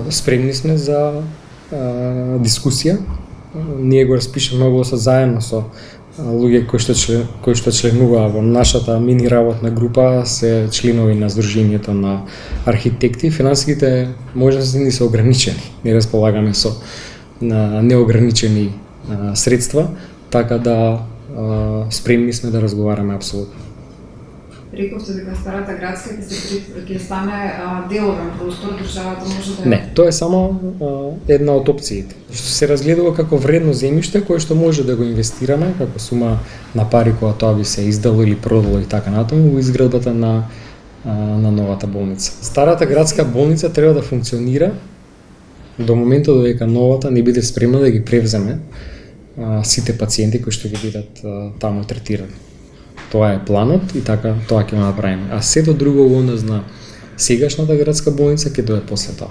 Спремни сме за дискусија. Ние го распишаме огласот заедно со луѓе кои што членуваа во нашата мини работна група, се членови на Сдруженијето на архитекти. Финансиските можности ни се ограничени. Не располагаме со неограничени средства, така да спремни сме да разговараме апсолутно. Рековте дека старата градска ќе стане деловен простор, државата може да... Не, тоа е само една од опциите. Што се разгледува како вредно земјиште кое што може да го инвестираме како сума на пари кога тоа би се издало или продало и така натаму во изградбата на новата болница. Старата градска болница треба да функционира до моментот додека новата не биде спремна да ги превземе сите пациенти кои што ќе бидат таму третирани. Тоа е планот и така тоа ќе го направиме. А сето друго во однос на сегашната градска болница ќе дое после тоа.